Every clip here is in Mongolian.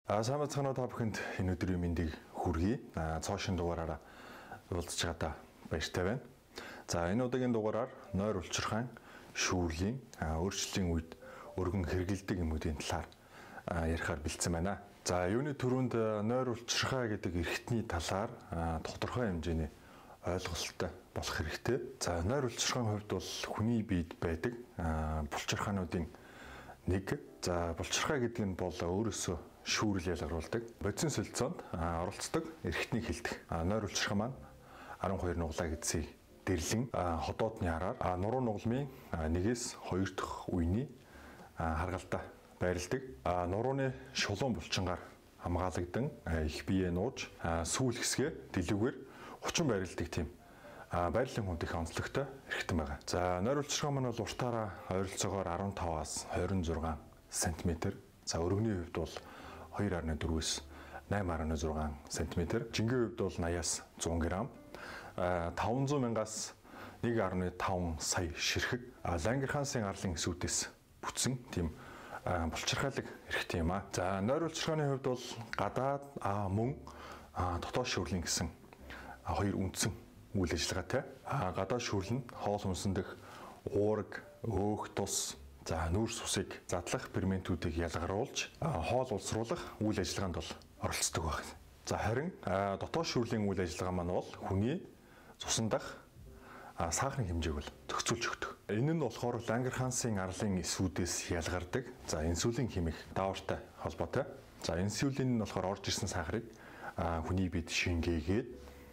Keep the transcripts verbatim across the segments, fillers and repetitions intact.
А сайн бацгаана та бүхэнд энэ өдрийн мэндийг хүргэе. А цоошин дугаараараа уулзч байгаадаа баяртай байна. За энэ удаагийн дугаараар нойр улчирхайн шүүрлийн өөрчлөлийн үед өргөн хэрэгэлдэг юмуудын талаар ярихаар бэлдсэн байна. За юуны түрүүнд нойр улчирхай гэдэг эрхтний талаар тодорхой хэмжээний ойлголттой болох хэрэгтэй. За нойр улчирхайн хувьд бол хүний биед байдаг булчирхаануудын нэг. За булчирхай гэдэг нь бол өөрөөсөө шүүрэл ялгаруулдаг. Бодисын солилцоонд оролцдог эрхтнийг хэлдэг. Нойр улчирхай маань арван хоёр нугалаа гэдсийг дэрлэн ходоодны хараар нуруу нугалмын нэгээс хоёр дахь үений харгалдаа байрладаг. Нурууны шулуун булчингаар хамгаалагдан их биеэ нууж сүүл хэсгээ дэлгүүгээр хучин байрладаг тийм байрлалын хүнд их онцлогтой эрхтэн байгаа. За нойр улчирхай маань бол уртаараа ойролцоогоор арван таваас хорин зургаан сантиметр. За өргөний хувьд бол хоёр арван дөрвөөс найман арван зургаан сантиметр. Жингийн хувьд бол наяас зуун грамм. таван зуун мянгаас нэг гаруй таван сая ширхэг Лангерхансын арлын эсүүдээс бүтсэн тийм булчирхайлаг эрхтэй юм аа. За нойр улчирхайны хувьд бол гадаад мөн дотоод шүүрлийн гэсэн хоёр үндсэн үйл ажиллагаатай. Гадаад шүүрэл нь хоол хүнсэндх уураг, өөх тус, за нүүрс усыг задлах ферментүүдийг ялгаруулж хоол улсруулах үйл ажиллагаанд бол оролцдог байна. За харин дотоод шүүрлийн үйл ажиллагаа маань бол хүний цусан дах сахарын хэмжээг бол зохицуулж өгдөг. Энэ нь болохоор Лангерхансын арлын эсүүдээс ялгардаг. За инсулин хэмээх даавартай холбоотой. За инсулин нь болохоор орж ирсэн сахарыг хүний биед шингээгээд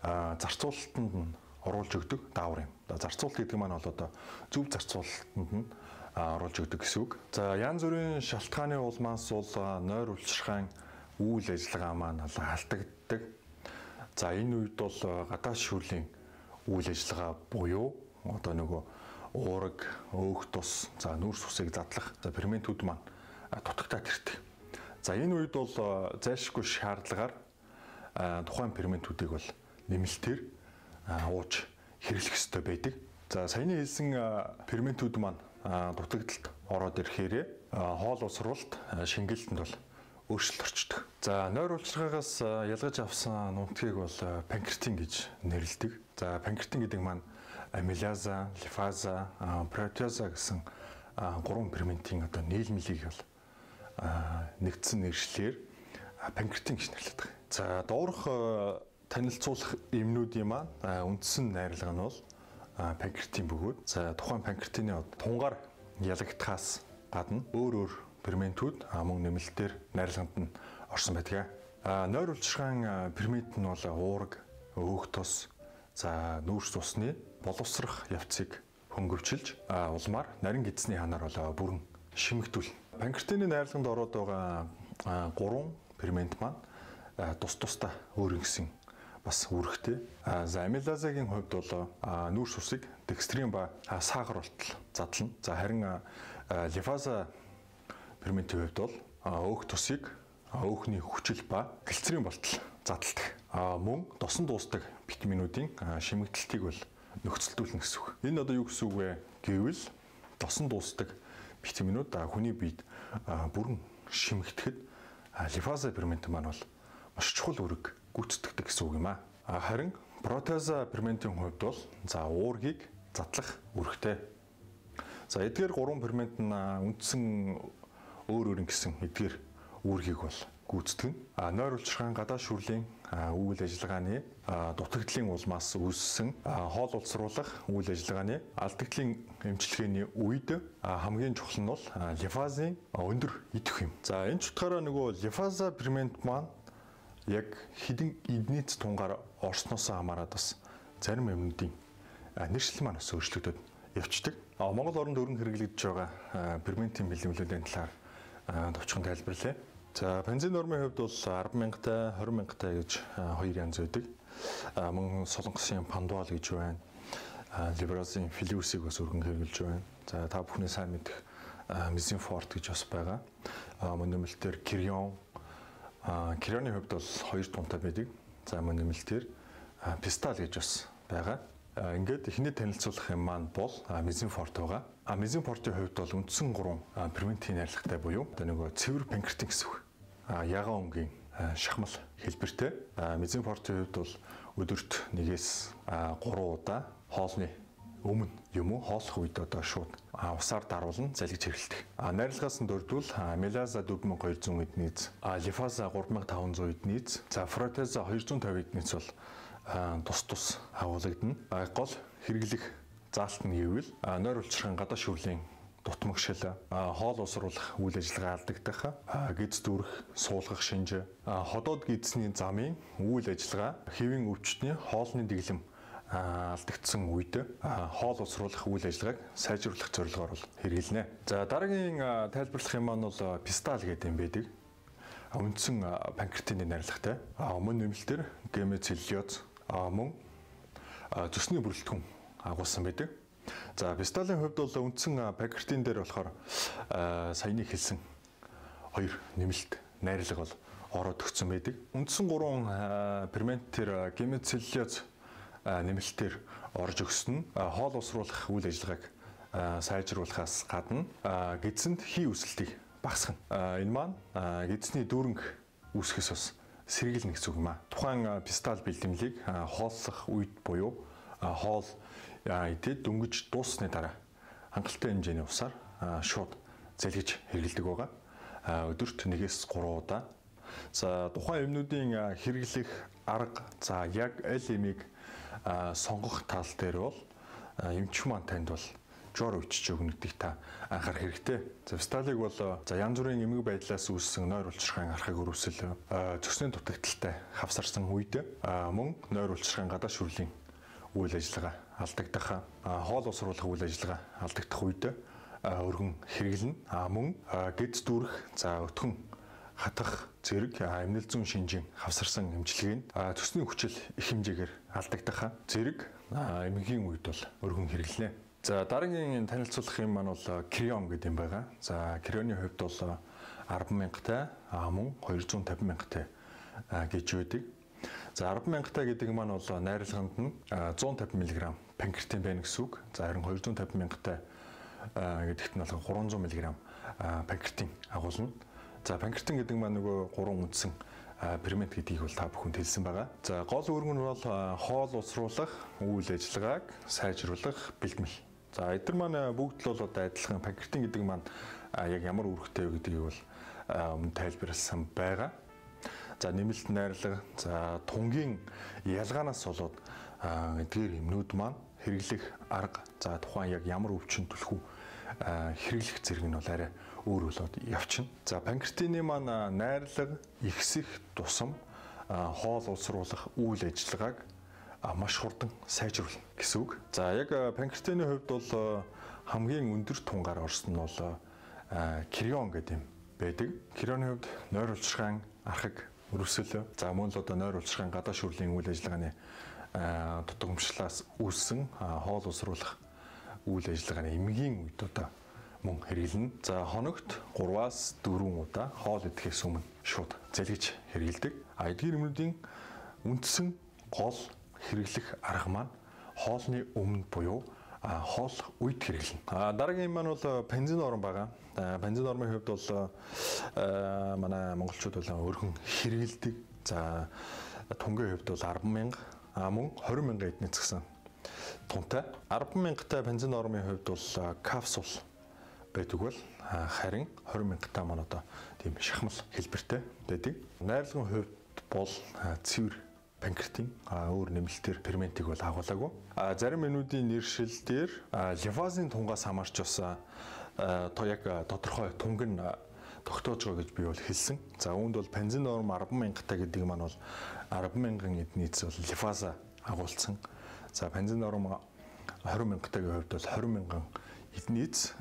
зарцуулалтанд нь оруулж өгдөг даавар юм. Зарцуулалт гэдэг маань бол одоо зөв зарцуулалтанд нь оруулж өгдөг гэсэн үг. За янз бүрийн шалтгааны улмаас бол нойр улчирхайн үйл ажиллагаа маань алдагддаг. За энэ үед бол гадаад шүүрлийн үйл ажиллагаа буюу одоо нөгөө уураг, өөх тус, за нүүрс усыг задлах за ферментүүд маань дутагтаад ирдэг. За энэ үед бол зайлшгүй шаардлагаар тухайн ферментүүдийг бол нэмэлтээр ууж хэрэглэх ёстой байдаг. За саяны хэлсэн ферментүүд маань дутагдалд ороод ирэхээр хоол усруулалт шингэлтэнд бол өөрчлөлт орчдөг. За нойр улчирхайгаас ялгаж авсан нутгийг бол панкреатин гэж нэрлэдэг. За панкреатин гэдэг маань амилаза, лифаза, протеаза гэсэн гурван ферментийн одоо нийлмэлийг бол нэгдсэн нэршлэр панкреатин гэж нэрлэдэг. За доорх танилцуулах эмнүүдийн маань үндсэн найрлага нь бол панкреатин бөгөөд за тухайн панкреатины тунгаар ялагдахаас гадна өөр өөр ферментүүд мөн нэмэлтээр найрлаганд нь орсон байдаг. Нойр улчирхайн фермент нь бол уураг, өөх тус, за нүүрс усны боловсрох явцыг хөнгөвчилж улмаар нарийн эзний ханаар бол бүрэн шимэгдүүлнэ. Панкреатины найрлаганд ороод байгаа гурван фермент маань тус тусдаа өөр гэсэн бас үүрэгтэй. За амилазагийн хувьд бол нүүрс усыг декстрин ба сахар болтол задлана. За харин лифаза ферментийн хувьд бол өөх тусыг өөхний хүчил ба глицерин болтол задалдаг. Мөн досон дуустдаг витаминуудын шимэгдэлтийг бол нөхцөлдүүлнэ гэсэн үг. Энэ одоо юу гэсэн үг вэ гэвэл досон дуустдаг витаминууд хүний биед бүрэн шимэгдэхэд лифаза фермент маань бол маш чухал үүрэг гүйцэтгэдэг гэсэн үг юм аа. Харин протеаза ферментийн хувьд бол за уургийг задлах үүрэгтэй. За эдгээр гурван фермент нь үндсэн өөр өөр гэсэн эдгээр үүргийг бол гүйцэтгэн. Нойр улчирхайн гадаад шүүрлийн үйл ажиллагааны дутагдлын улмаас үүссэн хоол улсруулах үйл ажиллагааны алдагдлын эмчилгээний үед хамгийн чухал нь бол лифазын өндөр идэх юм. За энэ ч утгаараа нөгөө лифаза фермент маань яг хэдэн эднийц тунгаар орсноосоо хамаарат бас зарим юмнуудын нэршил маань бас өөрчлөгдөд явцдаг. Монгол оронд өргөн хэрэглэгдэж байгаа ферментийн бэлэмлүүдийн талаар товчхон тайлбарлая. За бензин нормын хувьд бол арван мянгатай, хорин мянгатай гэж хоёр янз байдаг. Мөн солонгосын пандуал гэж байна. Либразын филиусыг бас өргөн хэрэглэж байна. За та бүхний сайн мэдэх мезинфорт гэж бас байгаа. Мөн нэмэлтээр кирион. Кирионы хувьд бол хоёр тунтай байдаг. За мөн нэмэлтээр пистал гэж бас байгаа. Ингээд эхний танилцуулах юм маань бол мезинфорт байгаа. Мезинфортын хувьд бол үндсэн гурван ферментийн найрлагатай буюу одоо нөгөө цэвэр панкреатин гэсэн үг. ягаан өнгийн шахмал хэлбэртэй. Мезенфортын хувьд бол өдөрт нэгээс гурван удаа хоолны өмнө юм уу хооллох үед одоо шууд усаар даруулан залгиж хэрэглэдэг. Найрлагаас нь дөрөвдөл мелаза дөрвөн мянган хоёр зуун эднийц, лифаза гурван мянган таван зуун эднийц, за фротеза хоёр зуун тавин эднийц бол тус тус агуулгадна. Гол хэрэглэх заалт нь гэвэл нойр улчирхан гадаа шүрлийн дутмагшил, хоол усруулах үйл ажиллагаа алдагдах, гиз дүүрэх, суулгах шинж, ходоод гизний замын үйл ажиллагаа, хэвийн өвчтний хоолны дэглэм алдагдсан үед хоол усруулах үйл ажиллагааг сайжруулах зорилгоор бол хэрэглэнэ. За дараагийн тайлбарлах юм маань бол пистал гэдэг юм байдаг. Үндсэн панкреатины найрлагатай. Өмнө нэмэлтээр гемоцеллюлоз мөн зүсний бүрэлдэхүүн агуулсан байдаг. За писталын хувьд бол үндсэн панкреатин дээр болохоор саяны хэлсэн хоёр нэмэлт найрлага бол ороод өгсөн байдаг. Үндсэн гурван ферментээр гемоцеллюлоз нэмэлтээр орж өгсөн нь хоол усруулах үйл ажиллагааг сайжруулахаас гадна гидсэнд хий өсөлтийг багасгана. Энэ маань гидсний дүүрэнх үүсгэс бас сэргийлнэ гэсэн үг юм аа. Тухайн пистал бэлтгэлийг хооллох үед буюу хоол идээд дөнгөж дууссаны дараа хангалттай хэмжээний усаар шууд залгиж хэрэглэдэг байгаа. Өдөрт нэгээс гурван удаа. За тухайн эмнүүдийн хэрэглэх арга, за яг аль эмийг сонгох тал дээр бол эмч маань танд бол жор өчч өгнөдгийг та анхаарах хэрэгтэй. За писталыг бол за янз бүрийн эмгэг байдлаас үүссэн нойр улчирхайн архаг өрөвсөл, цөсний дутагдaltaй хавсарсан үед мөн нойр улчирхайн гадаа шүрлийн үйл ажиллагаа алдагдах, хоол усруулах үйл ажиллагаа алдагдах үед өргөн хэрэглэнэ. Мөн гиз дүүрэх, за өтгөн хатах зэрэг эмнэл зүүн шинжийн хавсарсан эмчилгээг цөсний хүчил их хэмжээгээр алдагдах зэрэг эмгэгийн үед бол өргөн хэрэглэнэ. За дараагийн танилцуулах юм маань бол крион гэдэг юм байгаа. За крионы хувьд бол арван мянгатай, мөн хоёр зуун тавин мянгатай гэж байдаг. За арван мянгатай гэдэг маань бол найрлаганд нь зуун тавин миллиграмм панкреатин байна гэсэн үг. За харин хоёр зуун тавин мянгатай гэдэгт нь бол гурван зуун миллиграмм панкреатин агуулна. За панкреатин гэдэг маань нөгөө гурван үндсэн фермент гэдгийг бол та бүхэнд хэлсэн байгаа. За гол үүрэг нь бол хоол усруулах үйл ажиллагааг сайжруулах бэлтгэл. За эдгээр маань бүгд л бол одоо адилхан панкреатин гэдэг маань яг ямар үүрэгтэй вэ гэдгийг бол өмнө тайлбарласан байгаа. За нэмэлт найрлага, за тунгийн ялгаанаас болоод эдгээр эмнүүд маань хэрэглэх арга, за тухайн яг ямар өвчин түлхүү хэрэглэх зэрэг нь бол арай өөр болоод явчихна. За панкреатины маань найрлага ихсэх тусам хоол усруулах үйл ажиллагааг маш хурдан сайжруулна гэсэн үг. За яг панкреатины хувьд бол хамгийн өндөр тунгаар орсон нь бол крион гэдэг юм байдаг. Крионы хувьд нойр улчирхайн архаг өрөвсөл, за мөн л одоо нойр улчирхайн гадаа шүрлийн үйл ажиллагааны дутагмшлаас үүссэн хоол усруулах үйл ажиллагааны эмгэгийн үед одоо мөн хэрэглэнэ. За хоногт гурваас дөрвөн удаа хоол идэхээс өмнө шууд залгиж хэрэглэдэг. А эдгээр эмнүүдийн үндсэн гол хэрэглэх арга маань хоолны өмнө буюу хооллох үед хэрэглэнэ. А дараагийн маань бол бензин норм байгаа. Бензин нормын хувьд бол манай монголчууд бол өргөн хэрэглэдэг. За тунгийн хувьд бол арван мянга, мөн хорин мянган эднийц гэсэн тунтай. арван мянгатай бензин нормын хувьд бол капсул байдаг бол харин хорин мянгатай маань одоо тийм шахмал хэлбэртэй байдаг. Найрлагын хувьд бол цэвэр панкреатин өөр нэмэлтээр ферментийг бол агуулаагүй. Зарим эмнүүдийн нэршил дээр лимфазын тунгаас хамаарч бас то яг тодорхой тунг нь тогтоож байгаа гэж би бол хэлсэн. За үүнд бол бензин норм арван мянгатай гэдэг маань бол арван мянган эднийц бол лимфаза агуулсан. За бензин норм хорин мянгатайгийн хувьд бол хорин мянган эднийц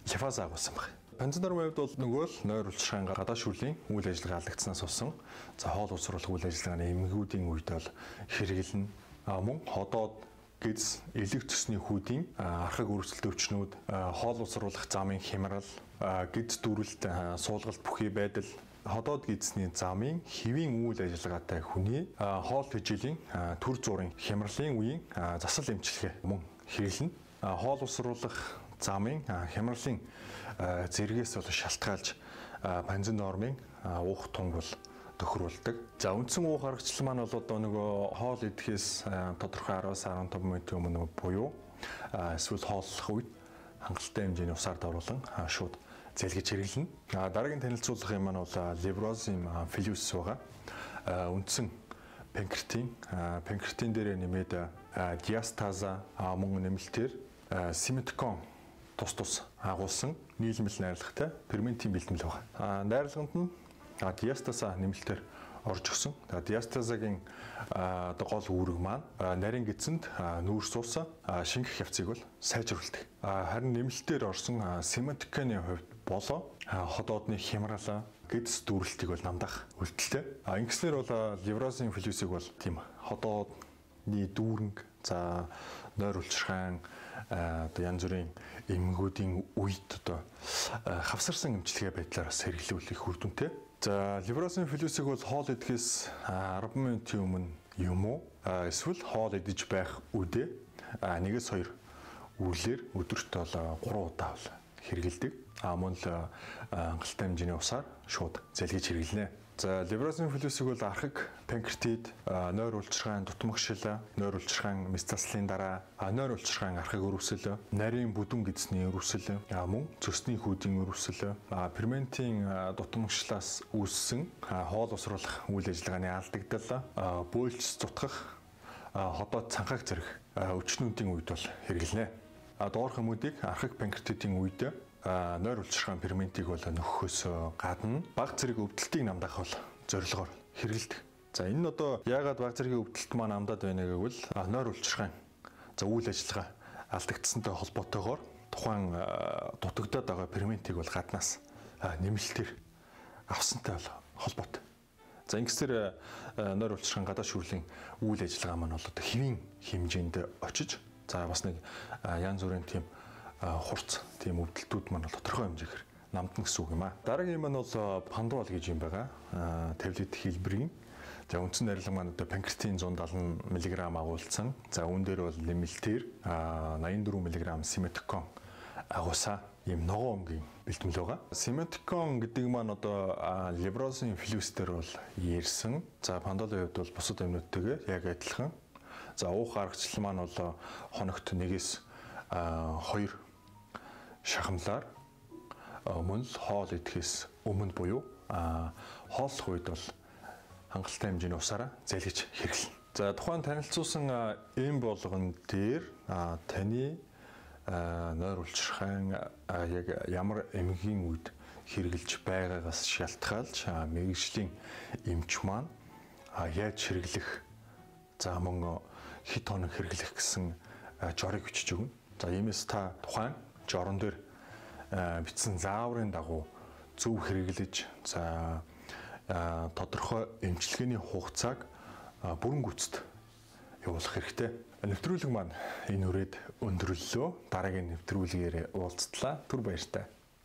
лимфаза агуулсан байна. Бензин нормын хувьд бол нөгөө л нойр улчирхайн гадаа шүрлийн үйл ажиллагаа алдагдсанаас болсон. За хоол усруулах үйл ажиллагааны эмгэгүүдийн үед бол хэрэглэнэ. Мөн ходоод гиз элэг цэсний хүүдийн архаг өрөвсөлт өвчнүүд, хоол усруулах замын хямрал, гиз дүүрэлт, суулгалт бүхий байдал, ходоод гизний замын хэвийн үйл ажиллагаатай хүний хоол тэжээлийн төр зургийн хямралын үеийн засал эмчилгээ мөн хэрэглэнэ. Хоол усруулах замын хямралын зэрэгээс бол шалтгаалж бензин нормын уух тунг бол тохируулдаг. За үндсэн уух аргачлал маань бол одоо нөгөө хоол идэхээс тодорхой араас арван таван минутын өмнө буюу эсвэл хооллох үед хангалттай хэмжээний усаар давруулан шууд зэлгэж хэрэглэнэ. Дараагийн танилцуулах юм маань бол Librozim Filus байгаа. Үндсэн панкреатин, панкреатин дээр нэмээд диастаза мөн нэмэлтээр Simeticon тус тус агуулсан нийлмэл найрлагатай ферментийн бэлтгэл байгаа. Найрлаганд нь диастаза нэмэлтээр орж өгсөн. Диастазагийн одоо гол үүрэг маань нарийн гидсэнд нүүрс ууса шингэх явцыг бол сайжруулдаг. Харин нэмэлтээр орсон Simeticon-ы хувьд болоо ходоодны хямралаа гидс дүүрэлтийг бол намдах үйлдэлтэй. Ингэснээр бол Librozim Filus-ыг бол тийм ходоодны дүүрэнг за нойр улчирхайн одоо янз бүрийн эмгүүдийн үед одоо хавсарсан эмчилгээ байдлаар бас хэрэглүүлэх үр дүнтэй. За Librozim Filus-ыг бол хоол идэхээс арван минутын өмнө юм уу эсвэл хоол идэж байх үедээ нэгээс хоёр үрлээр өдөрт бол гурван удаа бол хэрэгэлдэг. А мөн л хангалттай хэмжээний усаар шууд зэлгэж хэрэглэнэ. За Librozim Filus-ыг бол архаг панкреатит, нойр улчирхайн дутмагшил, нойр улчирхайн метастазлын дараа нойр улчирхайн архаг өрөвсөл, нарийн бүдүүн гидсний өрөвсөл, мөн цөсний хүүдийн өрөвсөл, ферментийн дутмагшлаас үүссэн хоол усруулах үйл ажиллагааны алдагдал, бөөлж зутгах, ходоод цанхаг зэрэг өчнүүдийн үед бол хэрэглэнэ. Доорх хүмүүдийг архаг панкреатитийн үед нойр улчирхайн ферментийг бол нөхөхөөс гадна бага зэрэг өвдөлтийг намдах бол зорилгоор хэрэгэлдэг. За энэ нь одоо яагаад бага зэргийн өвдөлт маань намдаад байна гэвэл нойр улчирхайн за үйл ажиллагаа алдагдсантай холбоотойгоор тухайн дутагдаад байгаа ферментийг бол гаднаас нэмэлтээр авсантай бол холбоотой. За ингэсээр нойр улчирхайн гадаа шүүрлийн үйл ажиллагаа маань бол одоо хэвийн хэмжээнд очиж за бас нэг янз бүрийн тийм хурц тийм өвдөлтүүд маань тодорхой хэмжээгээр намдна гэсэн үг юм аа. Дараагийн юм нь бол пандол гэж юм байгаа. Таблет хэлбэрийн. За үндсэн найрлага маань одоо панкреатин зуун даалан миллиграмм агуулсан. За үүн дээр бол нэмэлтээр найман дөрвөн миллиграмм Simeticon агуулсан ийм ногоон өмгийн бэлтгэл байгаа. Simeticon гэдэг маань одоо Librozim Filus дээр бол ярьсан. За пандолын хувьд бол бусад амьнуудтайгээ яг адилхан. За уух аргачлал маань бол хоногт нэгээс хоёр шахамлаар мөн л хоол идэхээс өмнө буюу хооллох үед бол хангалттай хэмжээний усаараа зэлгэж хэрэглэнэ. За тухайн танилцуулсан эм болгон дээр таны нойр улчирхайн яг ямар эмгийн үед хэрэгжилж байгаагаас шалтгаалж мэргэжлийн эмч маань яаж хэрэглэх за мөн хэд хоног хэрэглэх гэсэн жорыг бичиж өгнө. За иймээс та тухайн жорон дээр бичсэн зааврын дагуу зөв хэрэглэж за тодорхой эмчилгээний хугацааг бүрэн гүйцэд явуулах хэрэгтэй. Нэвтрүүлэг маань энэ үрээд өндөрлөлөө. Дараагийн нэвтрүүлгээр уулзтлаа. Түр баяртай.